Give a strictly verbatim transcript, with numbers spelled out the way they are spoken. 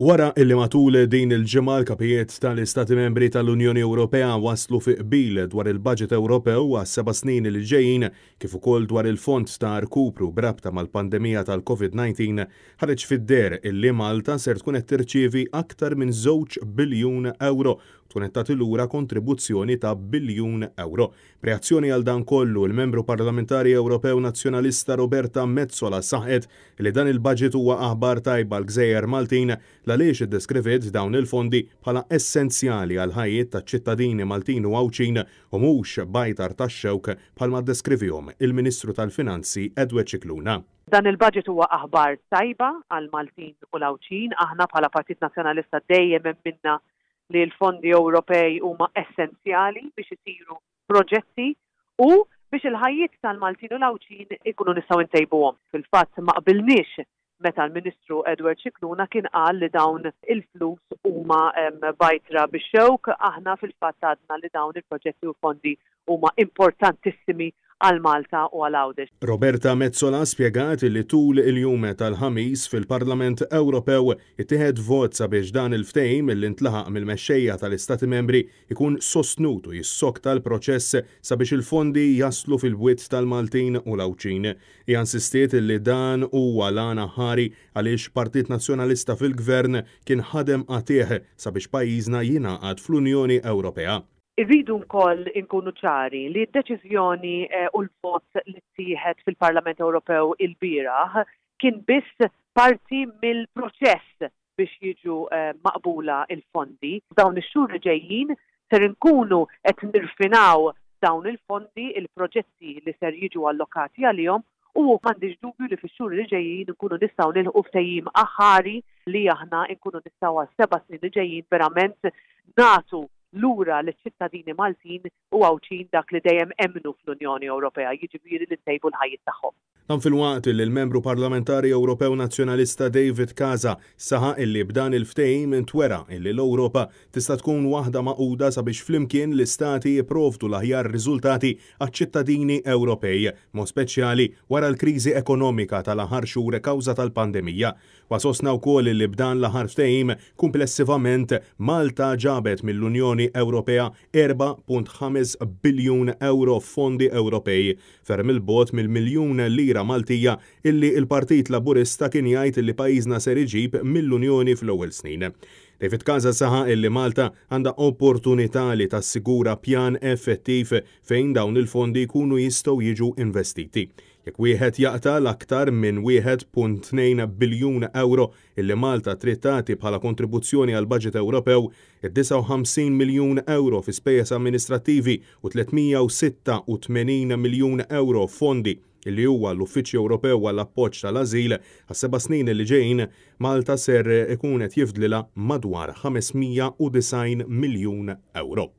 Wara illi matul din il-ġimgħa l-kapijiet tal-Istati Membri tal-Unjoni Ewropea waslu fi qbil dwar il-Budget Ewropew għas seba' snin li ġejjin kif ukoll dwar il-fond ta' rkupru b'rabta mal-pandemija tal-Covid disa, ħareġ fid-deher illi Malta ser tkun qed tirċievi aktar minn żewġ biljun euro, tkun qed tagħti lura kontribuzzjoni ta' biljun euro. B'reazzjoni għal dan kollu, il-membru parlamentari Ewropew Nazzjonalista Roberta Metsola saħqet li dan il-budget huwa aħbar tajba għall-gżejjer Maltin, għaliex iddeskriviet dawn il-fondi bħala essenzjali għal ħajjiet taċ-ċittadini Maltin u Għawdxin u mhux bajtar tax-xewk bħalma ddeskrivihom il-Ministru tal-Finanzi Edward Scicluna. Dan il-budget huwa aħbar tajba għal Maltin u l-Għawdxin. Aħna bħala Partit Nazzjonalista dejjem emminna li l-fondi Ewropej huma essenzjali biex isiru proġetti u biex il-ħajjiet tal-Maltin u l-Għawdxin ikunu nistgħu ntejbuhom. Fil-fatt, ma qbilniex meta l-Ministru Edward Scicluna kien qal li dawn il-flus huma bajtra bix-xewk. Aħna fil-fatt għadna li dawn il-proġetti u fondi huma importantissimi għal Malta u għal Għawdex. Roberta Metsola spjegat li tul il-jum tal-Ħamis fil-Parlament Ewropew ittieħed vot sabiex dan il-ftehim li ntlaħaq mill-mexxejja tal-Istati Membri ikun sostnut u jissokta l-proċess sabiex il-fondi jaslu fil-bwiet tal-Maltin u l-Għawdxin. Hija insistiet li dan huwa l-għan aħħari għaliex Partit Nazzjonalista fil-Gvern kien ħadem qatigħ sabiex pajjiżna jingħaqad fl-Unjoni Ewropea. Irridu wkoll inkunu ċari li d-deċiżjoni eh, u l-vot li ttieħed fil-Parlament Ewropew il-bieraħ kien biss parti mill-proċess biex jiġu eh, maqbula il-fondi. Dawn ix-xhur li ġejjin ser inkunu qed nirfinaw dawn il-fondi, il-proġetti li ser jiġu allokati għalihom, u m'għandix dubju li fix-xhur li ġejjin nkunu nistgħu nilħqu ftehim aħħari li aħna nkunu nistgħu għal seba' snin li ġejjin verament nagħtu lura liċ-ċittadini Maltin u Għawdxin dak li dejjem emmnu fl-Unjoni Ewropea, jiġifieri li ntejbu l-ħajjiet tagħhom. Dan filwaqt li l-membru parlamentari Ewropew Nazzjonalista David Casa saħaq illi b'dan il-ftehim intwera illi l-Ewropa tista' tkun waħda magħquda sabiex flimkien l-istati jipprovdu l-aħjar riżultati għaċ-ċittadini Ewropej, mod speċjali wara l-kriżi ekonomika tal-aħħar xhur kawża tal-pandemija. Huwa sostna wkoll li b'dan l-aħħar ftehim komplessivament Malta ġabet mill-Unjoni Ewropea erbgħa punt ħamsa biljun euro fondi Ewropej, ferm 'il bogħod mill-miljun lira Maltija illi il-Partit Laburista kien jgħid illi pajjiżna ser iġib mill-Unjoni fl-ewwel snin. David Casa saħaq illi Malta għandha opportunità li tassigura pjan effettiv fejn dawn il-fondi jkunu jistgħu jiġu investiti. Jekk wieħed jaqta' l-aktar minn wieħed punt tnejn biljun euro illi Malta trid tagħti bħala kontribuzzjoni għal budget Ewropew, id-disgħa u ħamsin miljun euro fi spejjeż amministrattivi u tliet mija u sitta u tmenin miljun euro fondi illi huwa l-Uffiċċju Ewropew għall appoġġ tal-Ażil għas seba' snin li ġejjin, Malta ser ikun qed jifdlilha madwar ħames mija u disgħin miljun euro.